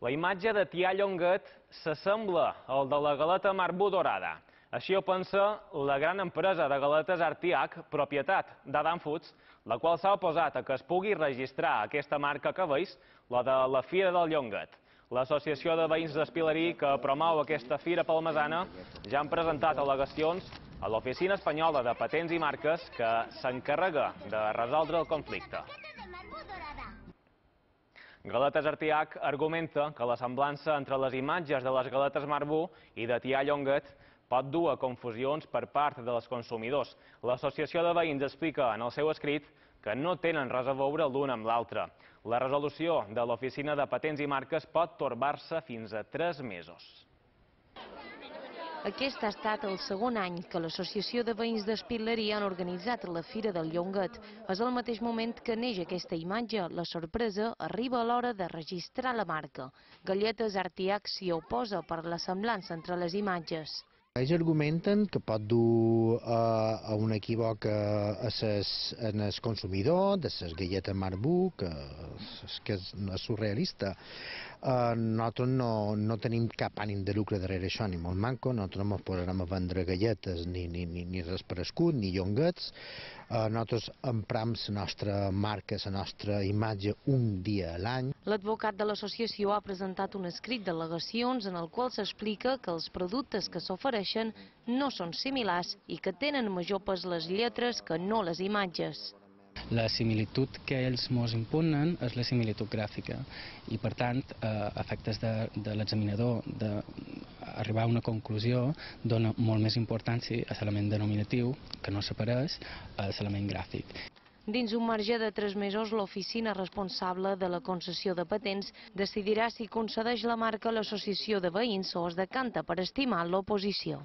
La imatge de Tià Llonguet s'assembla al de la galeta Marbú dorada. Així ho pensa la gran empresa de galetes Artiach, propietat d'Adam Foods, la qual s'ha oposat a que es pugui registrar aquesta marca que veus, la de la Fira del Llonguet. L'Associació de Veïns d'Espilerí, que promou aquesta fira palmesana, ja han presentat al·legacions a l'Oficina Espanyola de Patents i Marques, que s'encarrega de resoldre el conflicte. Galetes Artiach argumenta que la semblança entre les imatges de les galetes Marbú i de Tià Llonguet pot dur a confusions per part dels consumidors. L'Associació de Veïns explica en el seu escrit que no tenen res a veure l'un amb l'altre. La resolució de l'Oficina de Patents i Marques pot torbar-se fins a 3 mesos. Aquest ha estat el segon any que l'Associació de Veïns d'Espilerí han organitzat la Fira del Llonguet. És al mateix moment que neix aquesta imatge. La sorpresa arriba a l'hora de registrar la marca. Galletes Artiach s'hi oposa per la semblança entre les imatges. Ells argumenten que pot dur a un equívoc en el consumidor, de les galletes Marbú, que és surrealista. Nosaltres no tenim cap ànim de lucre darrere això, ni molt manco. Nosaltres no ens posarem a vendre galletes, ni res per escut, ni llonguets. Nosaltres empram la nostra marca, la nostra imatge un dia a l'any. L'advocat de l'associació ha presentat un escrit d'al·legacions en el qual s'explica que els productes que s'ofereixen no són similars i que tenen major pes les lletres que no les imatges. La similitud que ells ens imponen és la similitud gràfica i, per tant, a efectes de l'examinador d'arribar a una conclusió, dona molt més importància a l'element denominatiu, que no s'apareix, a l'element gràfic. Dins un marge de 3 mesos, l'oficina responsable de la concessió de patents decidirà si concedeix la marca a l'associació de veïns o es decanta per estimar l'oposició.